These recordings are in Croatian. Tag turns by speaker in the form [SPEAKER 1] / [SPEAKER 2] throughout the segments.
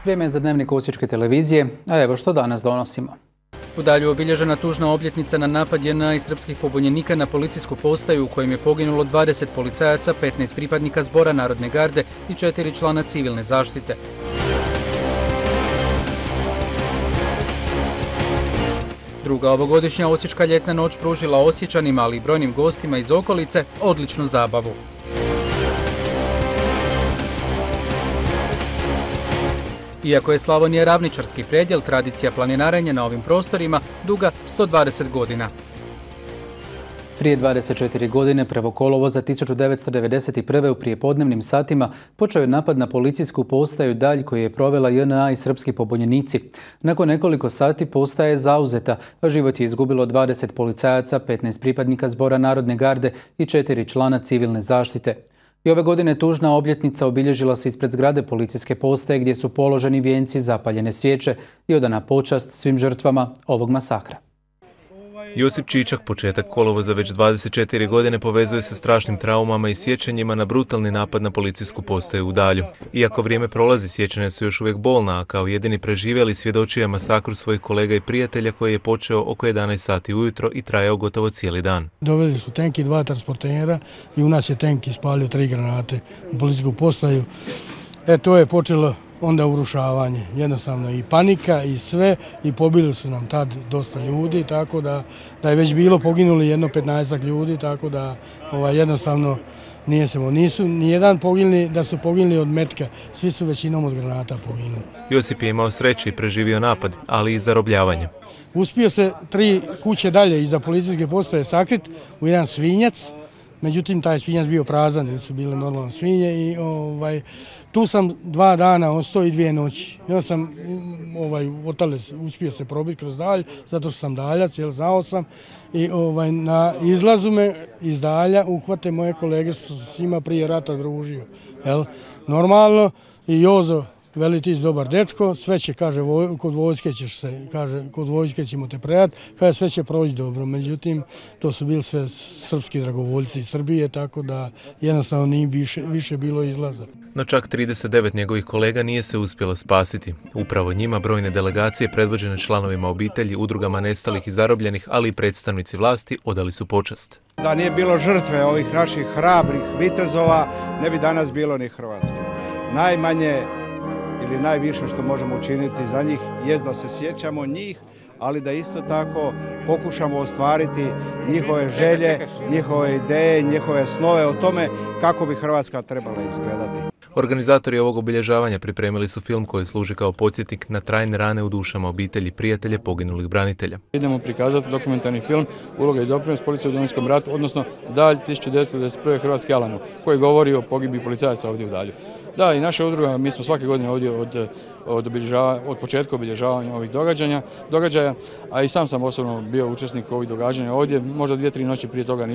[SPEAKER 1] Vrijeme je za dnevnik Osječke televizije, a evo što danas donosimo. U Dalju obilježena tužna obljetnica na napad JNA i srpskih pobunjenika na policijsku postaju u kojem je poginulo 20 policajaca, 15 pripadnika Zbora Narodne garde i 4 člana civilne zaštite. Druga ovogodišnja Osječka ljetna noć pružila Osječanima, ali i brojnim gostima iz okolice, odličnu zabavu. Iako je Slavonija ravničarski predjel, tradicija planinarenja na ovim prostorima duga 120 godina. Prije 24 godine, 1. kolovoza 1991. u prijepodnevnim satima počeo je napad na policijsku postaju Dalj koju je provela JNA i srpski pobunjenici. Nakon nekoliko sati postaja je zauzeta, a život je izgubilo 20 policajaca, 15 pripadnika Zbora Narodne garde i 4 člana civilne zaštite. I ove godine tužna obljetnica obilježila se ispred zgrade policijske postaje gdje su položeni vijenci, zapaljene svijeće i odana počast svim žrtvama ovog masakra.
[SPEAKER 2] Josip Čičak početak kolovoza već 24 godine povezuje sa strašnim traumama i sjećanjima na brutalni napad na policijsku postaju u Dalju. Iako vrijeme prolazi, sjećanja su još uvijek bolna, a kao jedini preživjeli svjedočio je masakru svojih kolega i prijatelja koji je počeo oko 11 sati ujutro i trajao gotovo cijeli dan.
[SPEAKER 3] Doveli su tenk i 2 transportera i u nas je tenk ispalio 3 granate u policijsku postaju. To je počelo onda urušavanje, jednostavno i panika i sve, i pobili su nam tad dosta ljudi, tako da je već bilo poginuli jedno 15 ljudi, tako da jednostavno nisu nijedan poginuli da su poginuli od metka, svi su većinom od granata poginuli.
[SPEAKER 2] Josip je imao sreće i preživio napad, ali i zarobljavanje.
[SPEAKER 3] Uspio se 3 kuće dalje iza policijske postaje sakrit u jedan svinjac, međutim taj svinjac bio prazan, nisu bile normalne svinje i tu sam 2 dana ostao i 2 noći. Ja sam uspio se probiti kroz Dalj, zato što sam daljac, jer znao sam. I na izlazu me iz Dalja uhvate moje kolege, s njima prije rata družio. Normalno i Jozo veli ti si dobar dečko, sve će, kaže, kod vojske ćeš se, kaže, kod vojske ćemo te predati, kaže, sve će proći dobro. Međutim, to su bili sve srpski dragovoljci iz Srbije, tako da jednostavno nije više bilo izlaza.
[SPEAKER 2] No čak 39 njegovih kolega nije se uspjelo spasiti. Upravo njima brojne delegacije predvođene članovima obitelji, udrugama nestalih i zarobljenih, ali i predstavnici vlasti odali su počast.
[SPEAKER 4] Da nije bilo žrtve ovih naših hrabrih vitezova, ne bi danas bilo ni Hrvatske. Najmanje ili najviše što možemo učiniti za njih jest da se sjećamo njih, ali da isto tako pokušamo ostvariti njihove želje, njihove ideje, njihove snove o tome kako bi Hrvatska trebala izgledati.
[SPEAKER 2] Organizatori ovog obilježavanja pripremili su film koji služi kao podsjetnik na trajne rane u dušama obitelji i prijatelje poginulih branitelja.
[SPEAKER 5] Idemo prikazati dokumentarni film Uloga i doprinos policije u Domovinskom ratu, odnosno Dalj 1991. Hrvatski Alamo, koji govori o pogibiji policajaca ovdje u Dalju. Da, i naša udruga, mi smo svake godine ovdje od početka obilježavanja ovih događaja, a i sam osobno bio učesnik ovih događanja ovdje. Možda 2-3 noći prije toga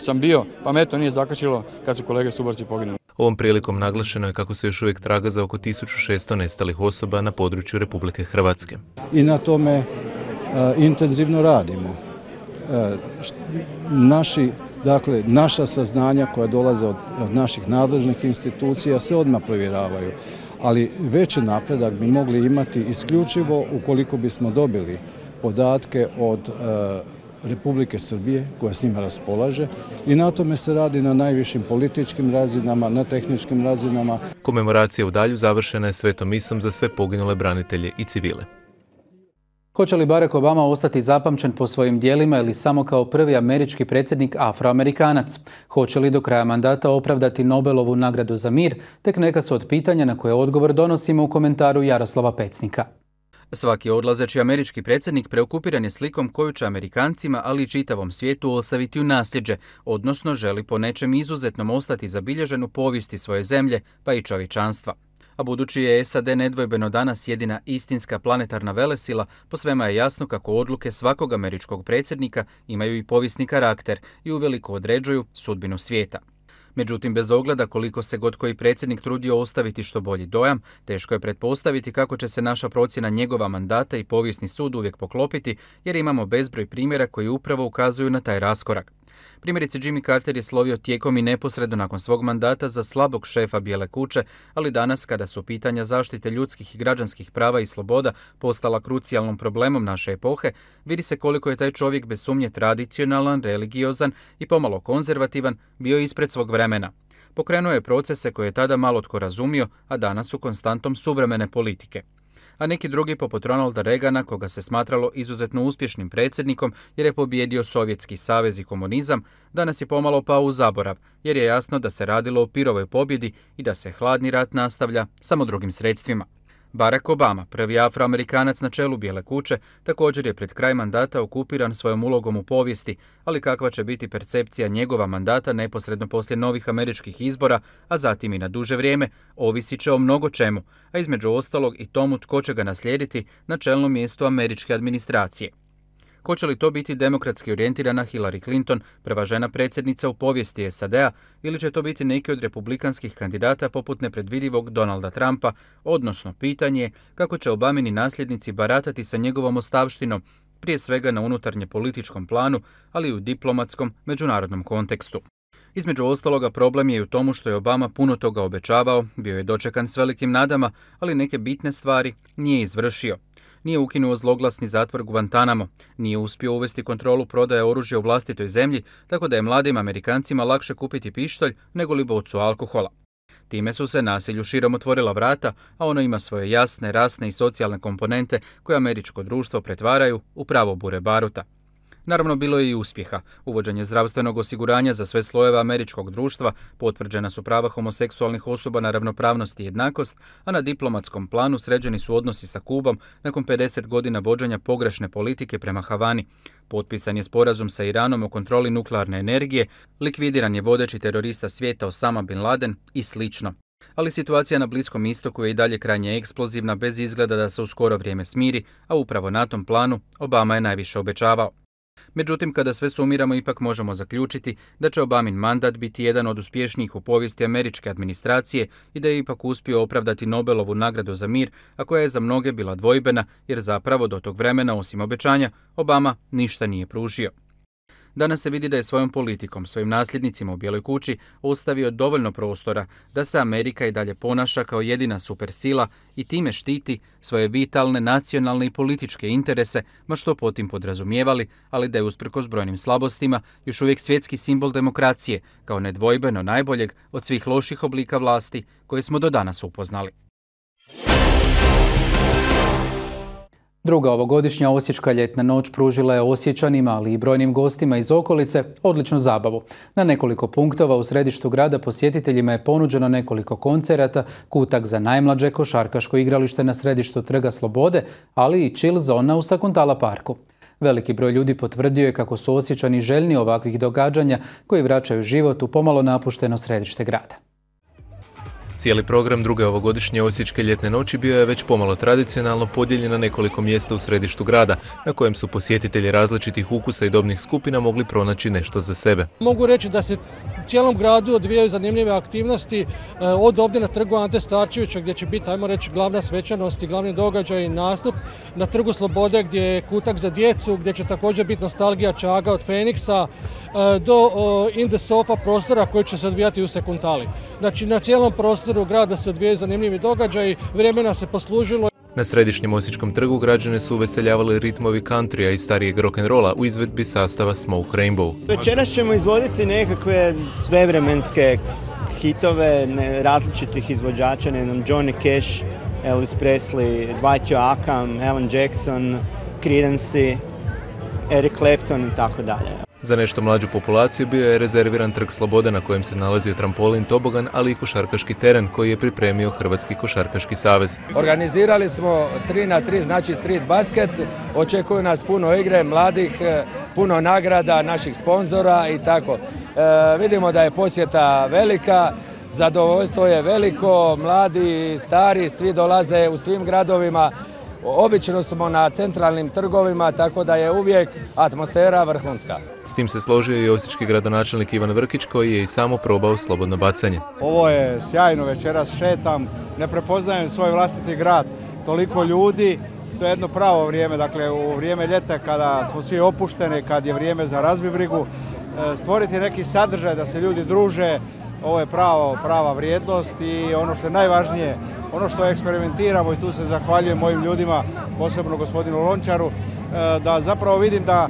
[SPEAKER 5] sam bio, pa me to nije zakačilo kad su kolege suborci poginuli.
[SPEAKER 2] Ovom prilikom naglašeno je kako se još uvijek traga za oko 1600 nestalih osoba na području Republike Hrvatske.
[SPEAKER 6] I na tome intenzivno radimo. Naša saznanja koja dolaze od naših nadležnih institucija se odmah provjeravaju, ali veći napredak bi mogli imati isključivo ukoliko bismo dobili podatke od Republike Srbije koja s njima raspolaže, i na tome se radi na najvišim političkim razinama, na tehničkim razinama.
[SPEAKER 2] Komemoracija u Dalju završena je svetom misom za sve poginule branitelje i civile.
[SPEAKER 1] Hoće li Barack Obama ostati zapamćen po svojim djelima ili samo kao prvi američki predsjednik afroamerikanac? Hoće li do kraja mandata opravdati Nobelovu nagradu za mir? Tek neka su od pitanja na koje odgovor donosimo u komentaru Jaroslava Pecnika. Svaki odlazeći američki predsjednik preokupiran je slikom koju će Amerikancima, ali i čitavom svijetu ostaviti u nasljeđe, odnosno želi po nečem izuzetnom ostati zabilježen u povijesti svoje zemlje, pa i čovječanstva. A budući je SAD nedvojbeno danas jedina istinska planetarna velesila, po svema je jasno kako odluke svakog američkog predsjednika imaju i povijesni karakter i uveliko određuju sudbinu svijeta. Međutim, bez ogleda koliko se god koji predsjednik trudio ostaviti što bolji dojam, teško je pretpostaviti kako će se naša procjena njegova mandata i povijesni sud uvijek poklopiti, jer imamo bezbroj primjera koji upravo ukazuju na taj raskorak. Primjerice, Jimmy Carter je slovio tijekom i neposredno nakon svog mandata za slabog šefa Bijele kuće, ali danas, kada su pitanja zaštite ljudskih i građanskih prava i sloboda postala krucijalnom problemom naše epohe, vidi se koliko je taj čovjek bez sumnje tradicionalan, religiozan i pomalo konzervativan bio ispred svog vremena. Pokrenuo je procese koje je tada malo tko razumio, a danas su konstantom suvremene politike. A neki drugi, poput Ronalda Reagana, koga se smatralo izuzetno uspješnim predsjednikom jer je pobijedio Sovjetski savez i komunizam, danas je pomalo pao u zaborav, jer je jasno da se radilo o Pirovoj pobjedi i da se hladni rat nastavlja samo drugim sredstvima. Barack Obama, prvi Afroamerikanac na čelu Bijele kuće, također je pred kraj mandata okupiran svojom ulogom u povijesti, ali kakva će biti percepcija njegova mandata neposredno poslije novih američkih izbora, a zatim i na duže vrijeme, ovisit će o mnogo čemu, a između ostalog i tomu tko će ga naslijediti na čelnom mjestu američke administracije. Hoće li to biti demokratski orijentirana Hillary Clinton, prva žena predsjednica u povijesti SAD-a, ili će to biti neki od republikanskih kandidata poput nepredvidivog Donalda Trumpa, odnosno pitanje je kako će Obamini nasljednici baratati sa njegovom ostavštinom, prije svega na unutarnje političkom planu, ali i u diplomatskom međunarodnom kontekstu. Između ostaloga, problem je i u tomu što je Obama puno toga obećavao, bio je dočekan s velikim nadama, ali neke bitne stvari nije izvršio. Nije ukinuo zloglasni zatvor Guantanamo, nije uspio uvesti kontrolu prodaje oružja u vlastitoj zemlji, tako da je mladim Amerikancima lakše kupiti pištolj nego li bocu alkohola. Time su se nasilju širom otvorila vrata, a ono ima svoje jasne, rasne i socijalne komponente koje američko društvo pretvaraju u pravo bure baruta. Naravno, bilo je i uspjeha. Uvođenje zdravstvenog osiguranja za sve slojeve američkog društva, potvrđena su prava homoseksualnih osoba na ravnopravnost i jednakost, a na diplomatskom planu sređeni su odnosi sa Kubom nakon 50 godina vođenja pogrešne politike prema Havani. Potpisan je sporazum sa Iranom o kontroli nuklearne energije, likvidiran je vodeći terorista svijeta Osama Bin Laden i slično. Ali situacija na Bliskom istoku je i dalje krajnje eksplozivna, bez izgleda da se u skoro vrijeme smiri, a upravo na tom planu Obama je najviše obećavao. Međutim, kada sve sumiramo, ipak možemo zaključiti da će Obamin mandat biti jedan od uspješnijih u povijesti američke administracije i da je ipak uspio opravdati Nobelovu nagradu za mir, a koja je za mnoge bila dvojbena, jer zapravo do tog vremena, osim obećanja, Obama ništa nije pružio. Danas se vidi da je svojom politikom, svojim nasljednicima u Bijeloj kući ostavio dovoljno prostora da se Amerika i dalje ponaša kao jedina supersila i time štiti svoje vitalne, nacionalne i političke interese, ma što potim podrazumijevali, ali da je usprkos brojnim slabostima još uvijek svjetski simbol demokracije, kao nedvojbeno najboljeg od svih loših oblika vlasti koje smo do danas upoznali. Druga ovogodišnja Osječka ljetna noć pružila je Osječanima, ali i brojnim gostima iz okolice, odličnu zabavu. Na nekoliko punktova u središtu grada posjetiteljima je ponuđeno nekoliko koncerata, kutak za najmlađe, košarkaško igralište na središtu Trga Slobode, ali i chill zona u Sakuntala parku. Veliki broj ljudi potvrdio je kako su Osječani željni ovakvih događanja koji vraćaju život u pomalo napušteno središte grada.
[SPEAKER 2] Cijeli program druge ovogodišnje Osječke ljetne noći bio je već pomalo tradicionalno podijeljen na nekoliko mjesta u središtu grada, na kojem su posjetitelji različitih ukusa i dobnih skupina mogli pronaći nešto za sebe.
[SPEAKER 7] Mogu reći da se u cijelom gradu odvijaju zanimljive aktivnosti, od ovdje na trgu Ante Starčevića gdje će biti, ajmo reći, glavna svečanost i glavni događaj i nastup, na trgu Slobode gdje je kutak za djecu, gdje će također biti nostalgija Čaga od Feniksa, do In the Sofa prostora koji će se odvijati u Sakuntali. Znači, na cijelom prostoru grada se odvijaju zanimljivi događaji, vremena se poslužilo.
[SPEAKER 2] Na središnjem Osječkom trgu građane su uveseljavali ritmovi countrya i starijeg rock'n'rolla u izvedbi sastava Smoke Rainbow.
[SPEAKER 8] Večeras ćemo izvoditi nekakve svevremenske hitove različitih izvođača, ne znam, Johnny Cash, Elvis Presley, Dwight Yoakam, Alan Jackson, Creedence, Eric Clapton i tako dalje.
[SPEAKER 2] Za nešto mlađu populaciju bio je rezerviran Trg Slobode na kojem se nalazio trampolin, tobogan, ali i košarkaški teren koji je pripremio Hrvatski košarkaški savez.
[SPEAKER 9] Organizirali smo 3x3, znači street basket, očekuju nas puno igre, mladih, puno nagrada, naših sponzora i tako. Vidimo da je posjeta velika, zadovoljstvo je veliko, mladi, stari, svi dolaze u svim gradovima. Obično smo na centralnim trgovima, tako da je uvijek atmosfera vrhunska.
[SPEAKER 2] S tim se složio i osječki gradonačelnik Ivan Vrkić koji je i samo probao slobodno bacanje.
[SPEAKER 4] Ovo je sjajno, večeras šetam, ne prepoznajem svoj vlastiti grad, toliko ljudi, to je jedno pravo vrijeme, dakle u vrijeme ljeta kada smo svi opušteni, kad je vrijeme za razbibrigu, stvoriti neki sadržaj da se ljudi druže. Ovo je prava vrijednost i ono što je najvažnije, ono što eksperimentiramo i tu se zahvaljujem mojim ljudima, posebno gospodinu Lončaru, da zapravo vidim da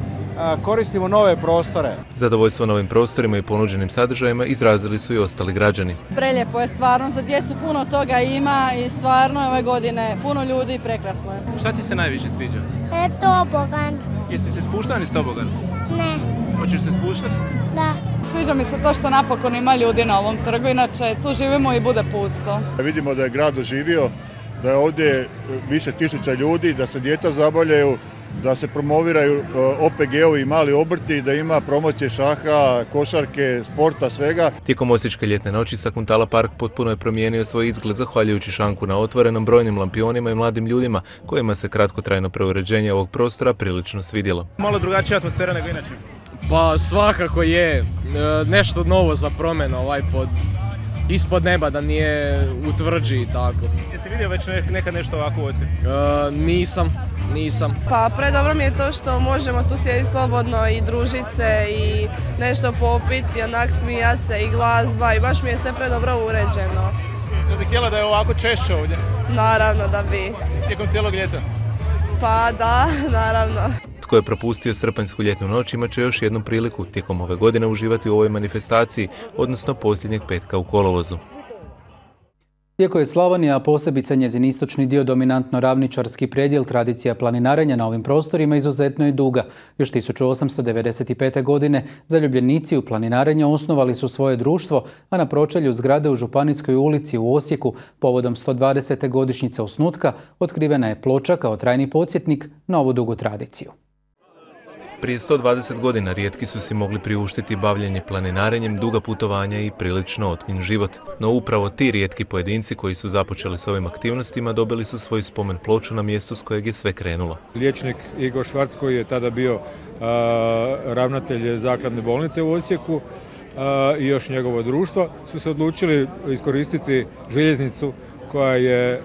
[SPEAKER 4] koristimo nove prostore.
[SPEAKER 2] Zadovoljstvo novim prostorima i ponuđenim sadržajima izrazili su i ostali građani.
[SPEAKER 10] Prelijepo je stvarno, za djecu puno toga ima i stvarno je ove godine puno ljudi i prekrasno je.
[SPEAKER 11] Šta ti se najviše sviđa?
[SPEAKER 12] Tobogan.
[SPEAKER 11] Jesi se spuštao niz tobogan?
[SPEAKER 12] Ne.
[SPEAKER 11] Hoćeš se spuštati?
[SPEAKER 12] Da.
[SPEAKER 10] Sviđa mi se to što napokon ima ljudi na ovom trgu, inače tu živimo i bude pusto.
[SPEAKER 13] Vidimo da je grad oživio, da je ovdje više tisuća ljudi, da se djeca zabavljaju, da se promoviraju OPG-ovi i mali obrti, da ima promocije šaha, košarke, sporta, svega.
[SPEAKER 2] Tijekom Osječke ljetne noći Sakuntala park potpuno je promijenio svoj izgled zahvaljujući šanku na otvorenom, brojnim lampionima i mladim ljudima kojima se kratkotrajno preuređenje ovog prostora prilično svidjelo.
[SPEAKER 11] Malo drugačija atmosfera nego inače.
[SPEAKER 14] Pa svakako je nešto novo za promjenu ispod neba, da nije u tvrđi i tako.
[SPEAKER 11] Jesi vidio već nekad nešto ovako u Osijeku?
[SPEAKER 14] Nisam.
[SPEAKER 10] Pa predobro mi je to što možemo tu sjediti slobodno i družiti se i nešto popiti i onak smijat se i glazba i baš mi je sve predobro uređeno.
[SPEAKER 11] Da bi htjela da je ovako češće ovdje?
[SPEAKER 10] Naravno da bi.
[SPEAKER 11] Tijekom cijelog ljeta?
[SPEAKER 10] Pa da, naravno.
[SPEAKER 2] Tko je propustio srpanjsku ljetnu noć imat će još jednu priliku tijekom ove godine uživati u ovoj manifestaciji, odnosno posljednjeg petka u kolovozu.
[SPEAKER 1] Iako je Slavonija, a posebice njezin istočni dio, dominantno ravničarski predjel, tradicija planinarenja na ovim prostorima izuzetno je duga. Još 1895. godine zaljubljenici u planinarenja osnovali su svoje društvo, a na pročelju zgrade u Županijskoj ulici u Osijeku povodom 120. godišnjice osnutka otkrivena je ploča kao trajni podsjetnik na ovu dugu tradiciju.
[SPEAKER 2] Prije 120 godina rijetki su si mogli priuštiti bavljenje planinarenjem, duga putovanja i prilično otmjen život. No upravo ti rijetki pojedinci koji su započeli s ovim aktivnostima dobili su svoju spomen ploču na mjestu s kojeg je sve krenulo.
[SPEAKER 5] Liječnik Igor Švarc, koji je tada bio ravnatelj zakladne bolnice u Osijeku i još njegovo društvo, su se odlučili iskoristiti željeznicu koja je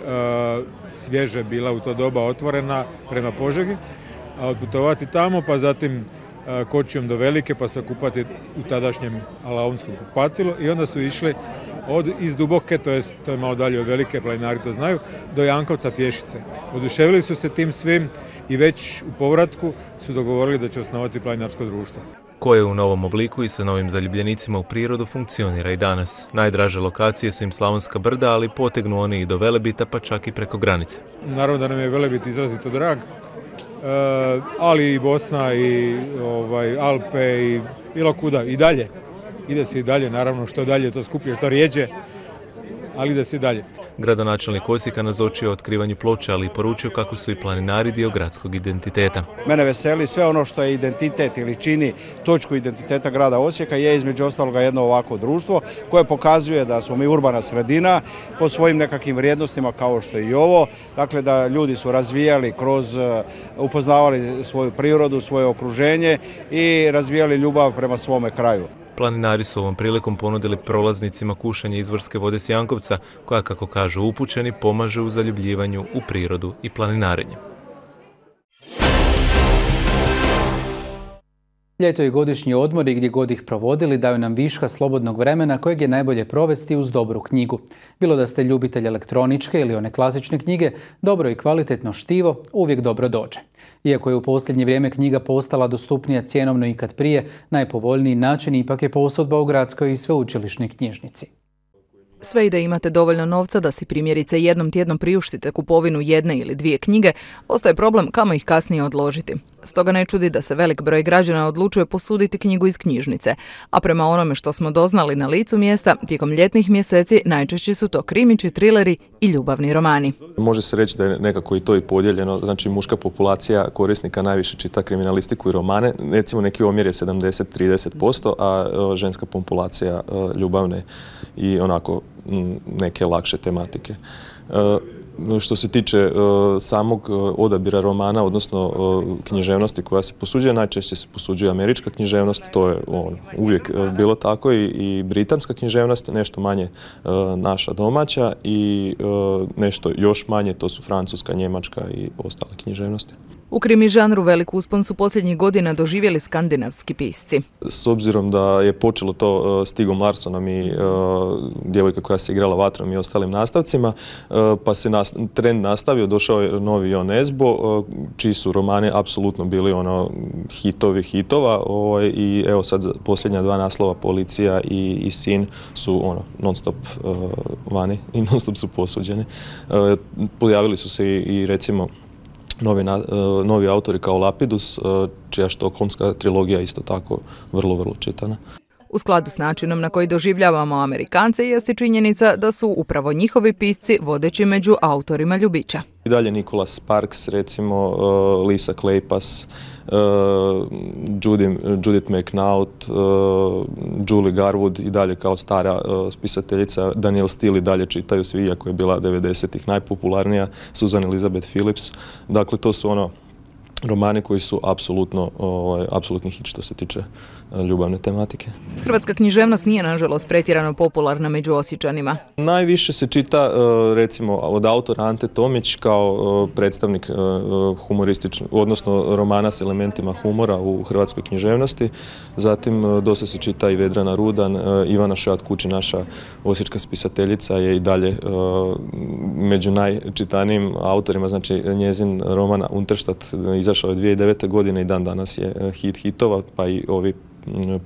[SPEAKER 5] svježe bila u to doba otvorena prema Požegi, odputovati tamo, pa zatim kočijom do Velike, pa se kupati u tadašnjem Alaunskom kupatilu i onda su išli iz Duboke, to je malo dalje od Velike, planinari to znaju, do Jankovca pješice. Oduševili su se tim svim i već u povratku su dogovorili da će osnovati planinarsko društvo.
[SPEAKER 2] Koje u novom obliku i sa novim zaljubljenicima u prirodu funkcionira i danas. Najdraže lokacije su im Slavonska brda, ali potegnu oni i do Velebita, pa čak i preko granice.
[SPEAKER 5] Naravno da nam je Velebit izrazito drag, ali i Bosna i Alpe i bilo kuda i dalje. Ide se i dalje, naravno što dalje to skuplje, što rijeđe, ali ide se i dalje.
[SPEAKER 2] Gradonačelnik Osijeka nazočio otkrivanju ploča, ali i poručio kako su i planinari dio gradskog identiteta.
[SPEAKER 4] Mene veseli sve ono što je identitet ili čini točku identiteta grada Osijeka je između ostaloga jedno ovako društvo koje pokazuje da smo mi urbana sredina po svojim nekakvim vrijednostima kao što je i ovo. Dakle da ljudi su razvijali upoznavali svoju prirodu, svoje okruženje i razvijali ljubav prema svome kraju.
[SPEAKER 2] Planinari su ovom prilikom ponudili prolaznicima kušanje izvorske vode s Jankovca, koja, kako kažu upućeni, pomaže u zaljubljivanju u prirodu i planinarenje.
[SPEAKER 1] Ljeto i godišnji odmori, gdje god ih provodili, daju nam viška slobodnog vremena kojeg je najbolje provesti uz dobru knjigu. Bilo da ste ljubitelj elektroničke ili one klasične knjige, dobro i kvalitetno štivo uvijek dobro dođe. Iako je u posljednje vrijeme knjiga postala dostupnija cjenovno ikad prije, najpovoljniji način ipak je posudba u gradskoj i sveučilišnoj knjižnici.
[SPEAKER 15] Sve i da imate dovoljno novca da si primjerice jednom tjednom priuštite kupovinu jedne ili dvije knjige, ostaje problem kamo ih kasnije odložiti. Stoga ne čudi da se velik broj građana odlučuje posuditi knjigu iz knjižnice, a prema onome što smo doznali na licu mjesta, tijekom ljetnih mjeseci najčešći su to krimići, trileri i ljubavni romani.
[SPEAKER 16] Može se reći da je nekako i to i podijeljeno, znači muška populacija korisnika najviše čita kriminalistiku i romane, recimo neki omjer je 70-30%, a ženska populacija ljubavne i onako neke lakše tematike. Što se tiče samog odabira romana, odnosno književnosti koja se posuđuje, najčešće se posuđuje američka književnost, to je uvijek bilo tako, i britanska književnost, nešto manje naša domaća i nešto još manje, to su francuska, njemačka i ostale književnosti.
[SPEAKER 15] U krimi žanru velik uspon su posljednjih godina doživjeli skandinavski pisci.
[SPEAKER 16] S obzirom da je počelo to Stigom Larssonom i djevojka koja se igrala vatrom i ostalim nastavcima, pa se trend nastavio, došao je novi Jon Esbo, čiji su romani apsolutno bili hitovi hitova i evo sad posljednja dva naslova, Policija i Sin, su non stop vani i non stop su posuđeni. Pojavili su se i recimo novi autori kao Lapidus, čija štokholmska trilogija isto tako vrlo čitana.
[SPEAKER 15] U skladu s načinom na koji doživljavamo Amerikance jeste činjenica da su upravo njihovi pisci vodeći među autorima ljubića.
[SPEAKER 16] I dalje Nicholas Sparks, recimo Lisa Kleypas, Judith McNaught, Julie Garwood i dalje kao stara spisateljica. Danielle Steel i dalje čitaju svi, iako je bila 90-ih najpopularnija, Susan Elizabeth Phillips. Dakle, to su romani koji su apsolutni hit što se tiče ljubavne tematike.
[SPEAKER 15] Hrvatska književnost nije, nažalost, pretjerano popularna među Osječanima.
[SPEAKER 16] Najviše se čita, recimo, od autora Ante Tomić kao predstavnik humorističnog, odnosno romana s elementima humora u hrvatskoj književnosti. Zatim dosta se čita i Vedrana Rudan, Ivana Šojat Kući, naša osječka spisateljica, je i dalje među najčitanijim autorima, znači njezin roman Unterstadt izašao je 2009. godine i dan danas je hit hitova, pa i ovi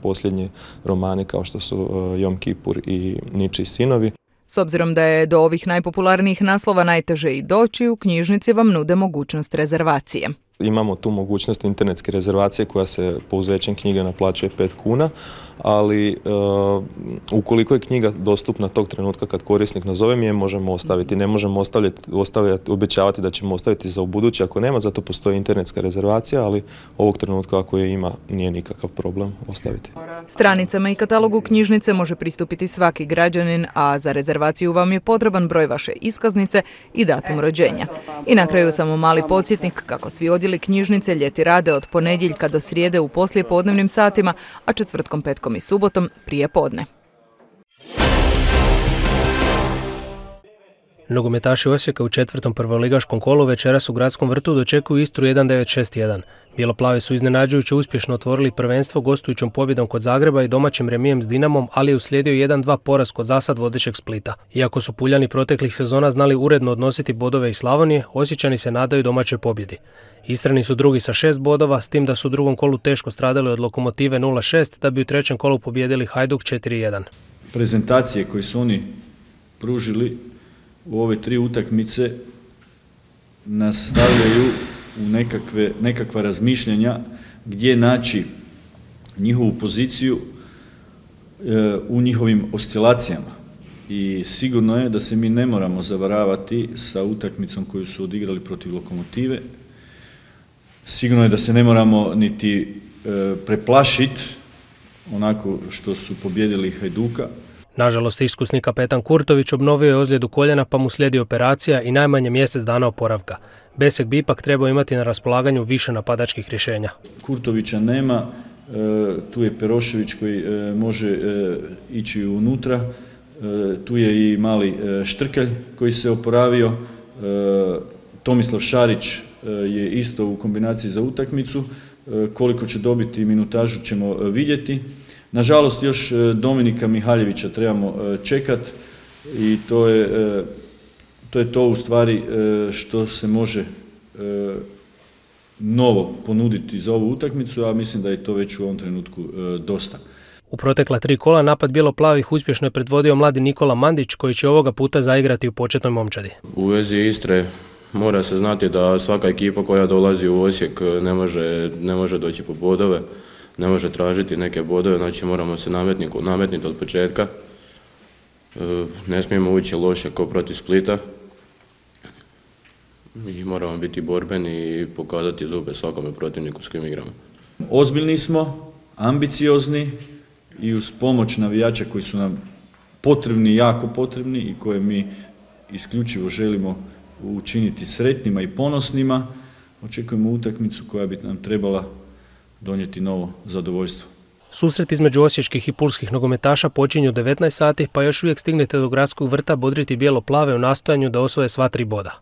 [SPEAKER 16] posljednji romani kao što su Jom Kipur i Ničiji sinovi.
[SPEAKER 15] S obzirom da je do ovih najpopularnijih naslova najteže i doći, u knjižnici vam nude mogućnost rezervacije.
[SPEAKER 16] Imamo tu mogućnost internetske rezervacije koja se po uzećem knjige naplaćuje 5 kuna, ali ukoliko je knjiga dostupna tog trenutka kad korisnik nazove, mi je možemo ostaviti. Ne možemo obećavati da ćemo ostaviti za ubuduće ako nema, zato postoji internetska rezervacija, ali ovog trenutka ako je ima nije nikakav problem ostaviti.
[SPEAKER 15] Stranicama i katalogu knjižnice može pristupiti svaki građanin, a za rezervaciju vam je potreban broj vaše iskaznice i datum rođenja. I na kraju samo mali podsjetnik kako svi odjeli knjižnice ljeti rade od ponedjeljka do srijede u poslijepodnevnim satima, a četvrtkom, petkom i subotom prije podne.
[SPEAKER 12] Nogometaši Osijeka u četvrtom prvoligaškom kolu večeras u Gradskom vrtu dočekuju Istru 1961. Bijeloplavi su iznenađujuće uspješno otvorili prvenstvo gostujućom pobjedom kod Zagreba i domaćim remijem s Dinamom, ali je uslijedio 1-2 poraz kod zasad vodećeg Splita. Iako su Puljani proteklih sezona znali uredno odnositi bodove iz Slavonije, Osječani se nadaju domaćoj pobjedi. Istrani su drugi sa 6 bodova, s tim da su u drugom kolu teško stradali od Lokomotive 0-6, da bi u trećem kolu pobijedili Hajduk 4-1.
[SPEAKER 17] Prezentacije koje su oni pružili u ove 3 utakmice nas stavljaju u nekakva razmišljanja gdje naći njihovu poziciju u njihovim oscilacijama. I sigurno je da se mi ne moramo zavaravati sa utakmicom koju su odigrali protiv Lokomotive. Sigurno je da se ne moramo niti preplašiti onako što su pobjedili Hajduka.
[SPEAKER 12] Nažalost, iskusni kapetan Kurtović obnovio je ozljedu koljena pa mu slijedi operacija i najmanje mjesec dana oporavka. Besek bi ipak trebao imati na raspolaganju više napadačkih rješenja.
[SPEAKER 17] Kurtovića nema, tu je Perošević koji može ići unutra, tu je i mali Štrkelj koji se oporavio, Tomislav Šarić je isto u kombinaciji za utakmicu, koliko će dobiti minutažu ćemo vidjeti. Nažalost, još Dominika Mihaljevića trebamo čekati i to je to u stvari što se može novo ponuditi za ovu utakmicu, a mislim da je to već u ovom trenutku dosta.
[SPEAKER 12] U protekla 3 kola napad bijeloplavih uspješno je predvodio mladi Nikola Mandić koji će ovoga puta zaigrati u početnoj momčadi.
[SPEAKER 18] U vezi Istre mora se znati da svaka ekipa koja dolazi u Osijek ne može doći po bodove. Ne može tražiti neke bodove, znači moramo se nametniti od početka. Ne smijemo ući loše kao protiv Splita i moramo biti borbeni i pokazati zube svakome protivniku s kojim igramo.
[SPEAKER 17] Ozbiljni smo, ambiciozni i uz pomoć navijača koji su nam potrebni, jako potrebni i koje mi isključivo želimo učiniti sretnima i ponosnima, očekujemo utakmicu koja bi nam trebala donijeti novo zadovoljstvo.
[SPEAKER 12] Susret između osječkih i pulskih nogometaša počinju u 19 sati, pa još uvijek stignete do Gradskog vrta bodriti bijelo-plave u nastojanju da osvoje sva 3 boda.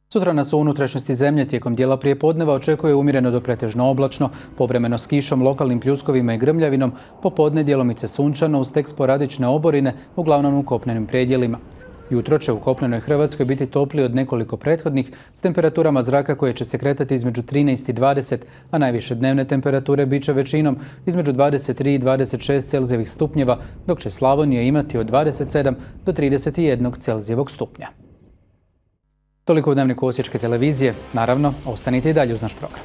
[SPEAKER 1] Sutra nas u unutrašnjosti zemlje tijekom dijela prijepodneva očekuje umjereno do pretežno oblačno, povremeno s kišom, lokalnim pljuskovima i grmljavinom, popodne djelomice sunčano uz tek sporadične oborine, uglavnom u kopnenim predjelima. Jutro će u kopnenoj Hrvatskoj biti toplije od nekoliko prethodnih s temperaturama zraka koje će se kretati između 13 i 20, a najviše dnevne temperature bit će većinom između 23 i 26 Celzijevih stupnjeva, dok će Slavonija imati od 27 do 31 Celzijevog stupnja. Toliko u Dnevniku Osječke televizije. Naravno, ostanite i dalje uz naš program.